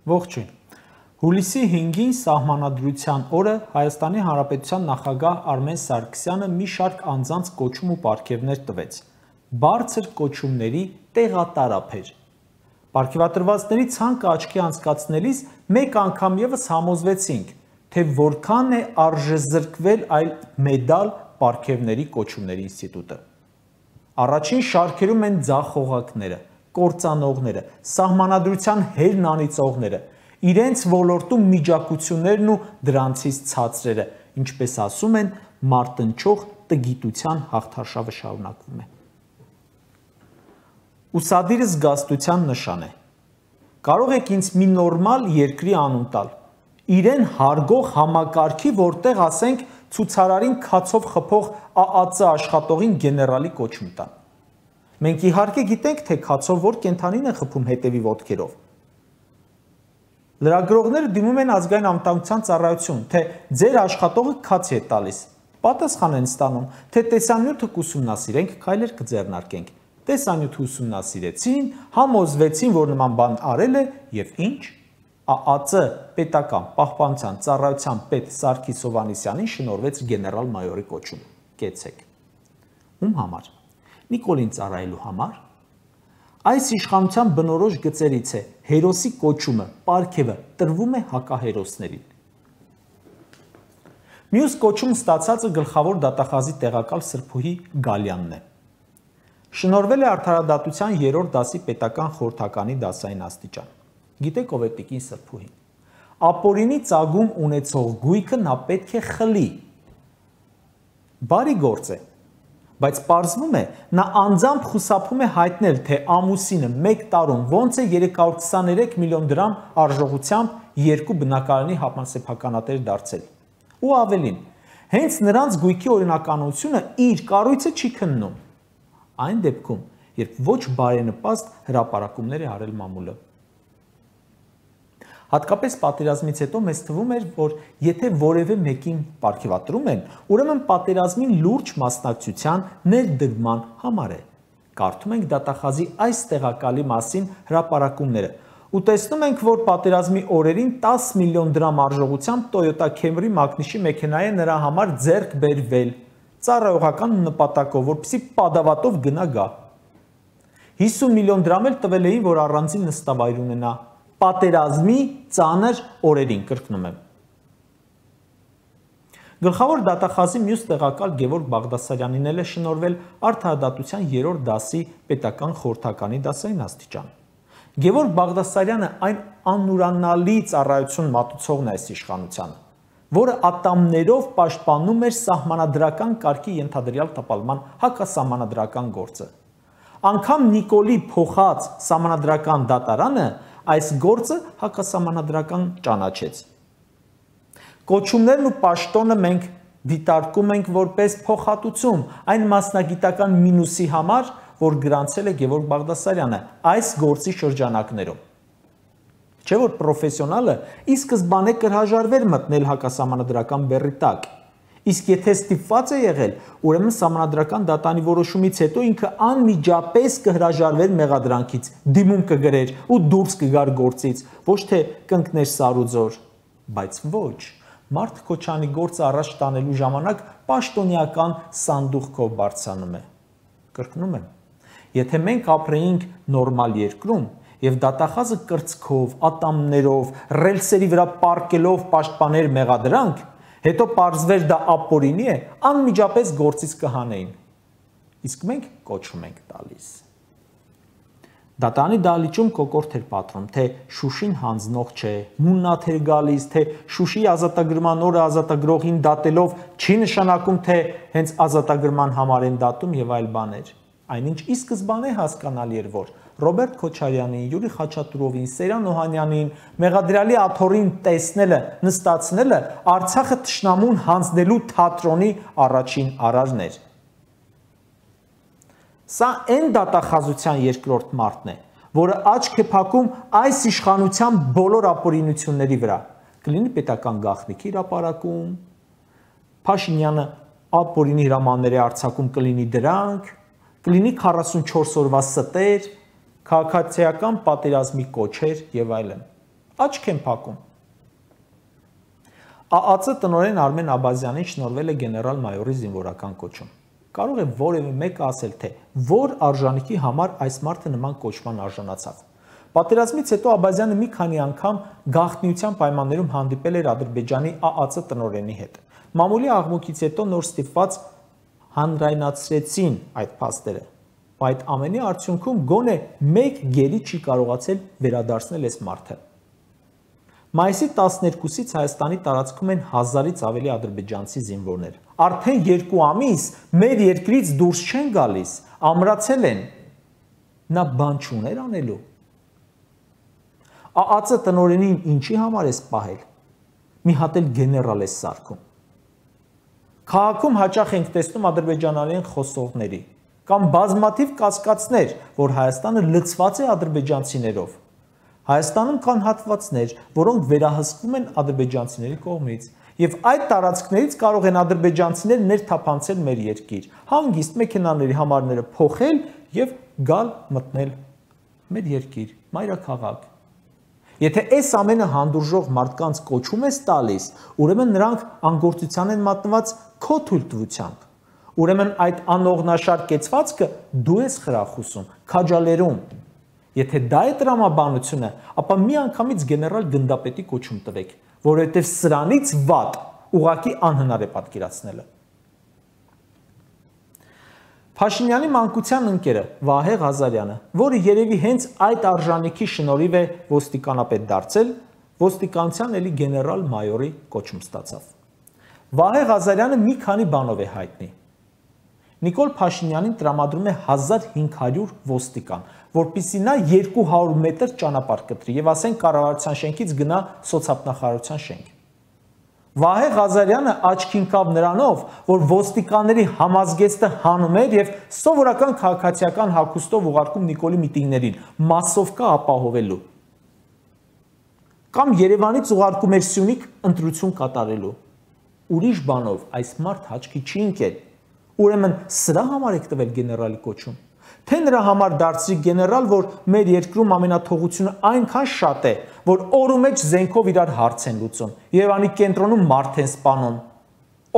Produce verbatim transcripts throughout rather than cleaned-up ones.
Ողջույն։ Հուլիսի հինգին Սահմանադրության օրը Հայաստանի Հանրապետության նախագահ Արմեն Սարգսյանը մի շարք անձանց կոչում ու պարգևներ տվեց։ Բարձր կոչումների տեղատարափ էր։ Պարգևատրվածների ցանկը աչքի անցկացնելիս մեկ անգամ ևս համոզվեցինք, թե որքան է արժեզրկվել այլ մեդալ պարգևների կոչումների ինստիտուտը։ Առաջին շարքերում են ձախողակները, կործանողները, սահմանադրության հերն անիծողները, իրենց ոլորտում միջակություններն ու դրանցից ցածրերը, ինչպես ասում են, մարտնչող տգիտության հաղթարշավը շարունակվում է։ Ուսադիրը զգաստության նշան է։ Կարող եք ինձ մի նորմալ երկրի անուն տալ, իրեն հարգող համակարգի, որտեղ ասենք ցուցարարին քացով խփող Ա Ա Ծ աշխատողին գեներալի կոչում տան։ Մենք իհարկե գիտենք, թե քացով որ կենդանին է խփում հետևի ոտքերով։ Լրագրողները դիմում են ազգային անվտանգության ծառայություն, թե ձեր աշխատողը քացի է տալիս։ Պատասխան են ստանում, թե տեսանյութը կուսումնասիրենք, քայլեր կձեռնարկենք։ Տեսանյութը ուսումնասիրեցին, համոզվեցին, որ նման բան արել է եւ ինչ։ Ա Ա Ծ պետական պահպանության ծառայության պետ Սարգիս Հովհաննիսյանին շնորհվեց գեներալ-մայորի կոչում։ Կեցեք։ Ում համար։ Նիկոլին ծառայելու համար։ Այս իշխանության բնորոշ գծերից է հերոսի կոչումը, պարգևը տրվում է հակահերոսներին։ Մյուս կոչում ստացածը գլխավոր դատախազի տեղակալ Սրբուհի Գալյանն է։ Շնորհվել է արդարադատության երրորդ դասի պետական խորհրդականի դասային աստիճան։ Գիտեք ով է տիկին Սրբուհին։ Ապօրինի ծագում ունեցող գույքը նա պետք է խլի։ Բարի գործ է, բայց պարզվում է, նա անձամբ խուսափում է հայտնել, թե ամուսինը մեկ տարում ոնց է երեք հարյուր քսաներեք միլիոն դրամ արժողությամբ երկու բնակարանի համասեփականատեր դարձել։ Ու ավելին, հենց նրանց գույքի օրինականությունը իր կառույցը չի քննում։ Այն դեպքում, երբ ոչ բարենպաստ հրապարակումներ է արել մամուլը։ Հատկապես պատերազմից հետո մեզ թվում էր, որ եթե որևէ մեկին պարգևատրում են, ուրեմն պատերազմին լուրջ մասնակցության ներդրման համար է։ Կարդում ենք դատախազի այս տեղակալի մասին հրապարակումները ու տեսնում ենք, որ պատերազմի օրերին տասը միլիոն դրամ արժողությամբ Toyota Camry մակնիշի մեքենա է նրա համար ձեռք բերվել, ծառայողական նպատակով, որպեսզի պատավատով գնա գա։ հիսուն միլիոն դրամ էլ տվել էին, որ առանձին նստավայր ունենա։ Պատերազմի ծանր օրերին, կրկնում եմ։ Գլխավոր դատախազի մյուս տեղակալ Գևորգ Բաղդասարյանին էլ է շնորհվել արդարադատության երրորդ դասի պետական խորհրդականի դասային աստիճան։ Գևորգ Բաղդասարյանը այն անուրանալի ծառայություն մատուցողն է այս իշխանությանը, որը ատամներով պաշտպանում էր սահմանադրական կարգի ենթադրյալ տապալման հակասահմանադրական գործը։ Անգամ Նիկոլի փոխած սահմանադրական դատարանը այս գործը հակասահմանադրական ճանաչեց։ Կոչումներն ու պաշտոնը մենք դիտարկում ենք որպես փոխհատուցում այն մասնագիտական մինուսի համար, որ գրանցել է Գևորգ Բաղդասարյանը այս գործի շրջանակներում։ Չէ՞ որ պրոֆեսիոնալը ի սկզբանե կհրաժարվեր մտնել հակասահմանադրական բեռի տակ։ Իսկ եթե ստիպված է եղել, ուրեմն սահմանադրական դատանի որոշումից հետո ինքը անմիջապես կհրաժարվեր մեղադրանքից, դիմում կգրեր ու դուրս կգար գործից, ոչ թե կընկներ սարուձոր, բայց ոչ, Մարդ Քոչանի գործը առաջ տանելու ժամանակ պաշտոնյական սանդուղքով բարձրանում է։ Կրկնում եմ, եթե մենք ապրեինք նորմալ երկրում եւ դատախազը կրծքով, ատամներով, ռելսերի վրա պառկելով պաշտպաներ մեղադրանք, հետո պարզվեր դա ապօրինի է, անմիջապես գործից կհանեին։ Իսկ մենք կոչում ենք տալիս։ Դատանի դահլիճում կոկորդ էր պատռում, թե Շուշին հանձնող չէ, մուննաթ էր գալիս, թե Շուշի ազատագրման օրը ազատագրողին դատելով չի նշանակում, թե հենց ազատագրման համար են դատում եւ այլ բաներ։ Այնինչ ի սկզբանե հասկանալի էր, որ Ռոբերտ Քոչարյանին, Յուրի Խաչատուրովին, Սերյան Օհանյանին, Մեղադրյալի աթոռին տեսնելը, նստացնելը Արցախը թշնամուն հանձնելու թատրոնի առաջին արարն էր։ Սա այն դատախազության երկրորդ մարտն է, որը աչք է փակում այս իշխանության բոլոր ապօրինությունների վրա։ Կլինի պետական գաղտնիքի հրապարակում, Փաշինյանը ապօրինի հրամանների արձակում կլինի դրանք, կլինի քառասունչորս օրվա ստեր, քաղաքացիական պատերազմի կոչեր եւ այլն։ Աչք են փակում։ ԱԱԾ տնօրեն Արմեն Աբազյանին շնորհվել է գեներալ-մայորի զինվորական կոչում։ Կարող է որևէ մեկը ասել, թե որ արժանիքի համար այս մարդը նման կոչման արժանացավ։ Պատերազմից հետո Աբազյանը մի քանի անգամ գաղտնիության պայմաններում հանդիպել էր Ադրբեջանի ԱԱԾ տնօրենի հետ։ Մամուլի աղմուկից հետո նոր ստիպված հանրայնացրեցին այդ փաստերը։ Այդ ամենի արդյունքում գոնե մեկ գերի չի կարողացել վերադարձնել այս մարդը։ Մայիսի տասներկուսից Հայաստանի տարածքում են հազարից ավելի ադրբեջանցի զինվորներ։ Արդեն երկու ամիս մեր երկրից դուրս չեն գալիս, ամրացել են։ Նա բան չուներ անելու։ ԱԱԾ տնօրենին ինչի համար է սպահել։ Մի հատ էլ գեներալ է սարքում։ Քաղաքում հաճախ ենք տեսնում ադրբեջանարեն խոսողների կամ բազմաթիվ կասկածներ, որ Հայաստանը լցված է ադրբեջանցիներով։ Հայաստանում կան հատվածներ, որոնք վերահսկվում են ադրբեջանցիների կողմից, եւ այդ տարածքներից կարող են ադրբեջանցիներ ներթափանցել մեր երկիր, հանգիստ մեքենաների համարները փոխել եւ գալ մտնել մեր երկիր, մայրաքաղաք։ Եթե այս ամենը հանդուրժող մարդկանց կոչում ես տալիս, ուրեմն նրանք անգործության են մատնված քո թույլտվությամբ։ Ուրեմն այդ անողնաշար կեցվածքը դու ես խրախուսում, քաջալերում։ Եթե դա է տրամաբանությունը, ապա միանգամից գեներալ գնդապետի կոչում տվեք, որովհետև սրանից վատ ուղղակի անհնար է պատկերացնելը։ Փաշինյանի մանկության ընկերը Վահե Ղազարյանը, որը երևի հենց այդ արժանիքի շնորհիվ է ոստիկանապետ դարձել, ոստիկանության էլի գեներալ-մայորի կոչում ստացավ։ Վահե Ղազարյանը մի քանի բանով է հայտնի։ Նիկոլ Փաշինյանին տրամադրում է հազար հինգ հարյուր ոստիկան, որպեսզի նա երկու հարյուր մետր ճանապարհ կտրի եւ ասենք կառավարության շենքից գնա սոցիալնախարարության շենք։ Վահե Ղազարյանը աչքին կավ նրանով, որ ոստիկանների համազգեստը հանում էր եւ սովորական քաղաքացիական հագուստով ուղարկում Նիկոլի միտինգներին, մասովկա ապահովելու։ Կամ Երևանից ուղարկում էր Սյունիք ընտրություն կատարելու։ Ուրիշ բանով այս մարդ հաճքի չի ընկել։ Ուրեմն սրա համար եք տվել գեներալի կոչում։ Թե նրա համար դարձրի գեներալ, որ մեր երկրում ամենաթողությունը այնքան շատ է, որ օրու մեջ զենքով իրար հարց են լուծում, Երևանի կենտրոնում մարդ են սպանում,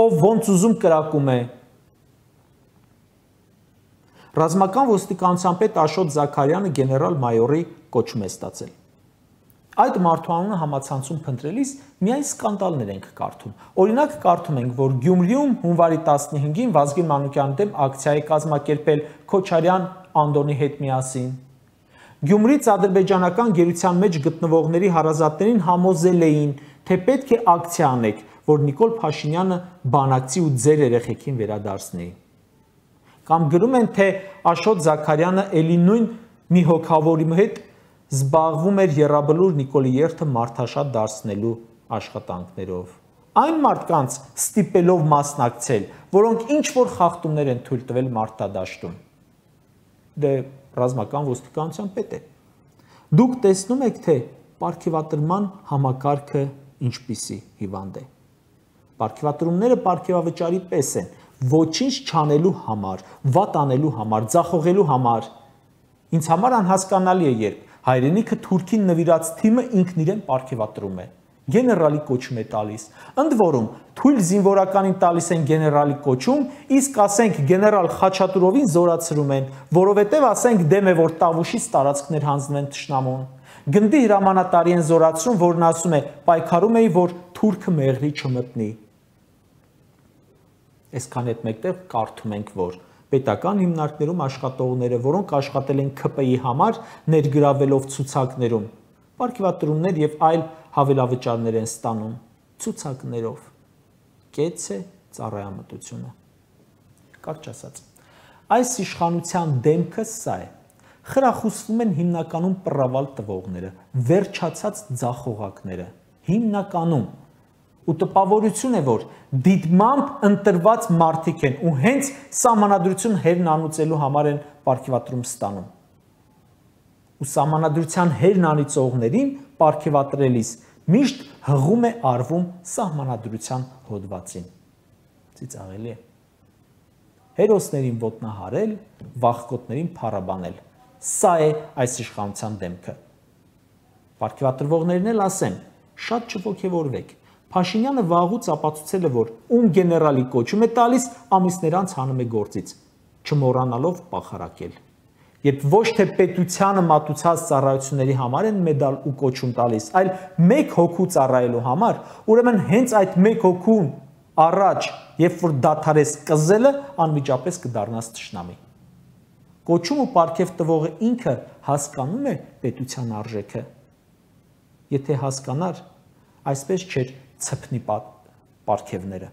ով ոնց ուզում կրակում է։ Ռազմական ոստիկանության պետ Աշոտ Զաքարյանը գեներալ-մայորի կոչում է ստացել։ Այդ մարդու անունը համացանցում փնտրելիս միայն սկանդալներ ենք կարդում։ Օրինակ կարդում ենք, որ Գյումրիում հունվարի տասնհինգին Վազգեն Մանուկյանի դեմ ակցիա է կազմակերպել Քոչարյան Անդոնի հետ միասին։ Գյումրից ադրբեջանական գերության մեջ գտնվողների հարազատներին համոզել էին, թե պետք է ակցիա անեք, որ Նիկոլ Փաշինյանը բանակցի ու ձեր երեխեքին վերադարձնի։ Կամ գրում են, թե Աշոտ Զաքարյանը էլի նույն մի հոգավորի հետ զբաղվում էր Եռաբլուր Նիկոլի երթը մարդաշատ դարձնելու աշխատանքներով։ Այն մարդկանց ստիպելով մասնակցել, որոնք ինչ-որ խախտումներ են թույլ տվել մարտադաշտում։ Դե ռազմական ոստիկանության պետ է։ Դուք տեսնում եք, թե պարգևատրման համակարգը ինչպիսի հիվանդ է։ Պարգևատրումները պարգևավճարի պես են, ոչինչ չանելու համար, վատ անելու համար, ձախողելու համար։ Ինձ համար անհասկանալի է, երբ հայրենիքը թուրքին նվիրած թիմը ինքն իրեն պարգևատրում է, գեներալի կոչում է տալիս։ Ընդ որում, թույլ զինվորականին տալիս են գեներալի կոչում, իսկ ասենք գեներալ Խաչատուրովին զորացրում են, որովհետև ասենք դեմ է, որ Տավուշից տարածքներ հանձնվեն թշնամուն։ Գնդի հրամանատարի են զորացրում, որն ասում է, պայքարում էի, որ թուրքը մեղրի չմտնի։ Այսքան հետ մեկտեղ կարդում ենք, որ պետական հիմնարկներում աշխատողները, որոնք աշխատել են ՔՊ-ի համար, ներգրավելով ցուցակներում, պարգևատրումներ եւ այլ հավելավճարներ են ստանում ցուցակներով։ Կեց է ծառայամտությունը։ Կարճ ասած, այս իշխանության դեմքը սա է։ Խրախուսվում են հիմնականում պռավալ տվողները, վերջացած ձախողակները, հիմնականում ու տպավորություն է, որ դիտմամբ ընտրված մարդիկ են ու հենց սահմանադրություն հերն անուծելու համար են պարգևատրում ստանում։ Ու սահմանադրության հերն անիծողներին պարգևատրելիս միշտ հղում է արվում սահմանադրության հոդվածին։ Ծիծաղելի է։ Հերոսներին ոտնահարել, վախկոտներին փառաբանել։ Սա է այս իշխանության դեմքը։ Պարգևատրվողներն էլ ասեն, շատ չոգևորվեք։ Փաշինյանը վաղուց ապացուցել է, որ ում գեներալի կոչում է տալիս, ամիսներ անց հանում է գործից, չմոռանալով պախարակել։ Երբ ոչ թե պետությանը մատուցած ծառայությունների համար են մեդալ ու կոչում տալիս, այլ մեկ հոգու ծառայելու համար, ուրեմն հենց այդ մեկ հոգուն առաջ, երբ որ դադարես կզելը, անմիջապես կդառնաս թշնամի։ Կոչում ու պարգև տվողը ինքը հասկանում է պետության արժեքը։ Եթե հասկանար, այսպես չէր ցփնի պարգևները։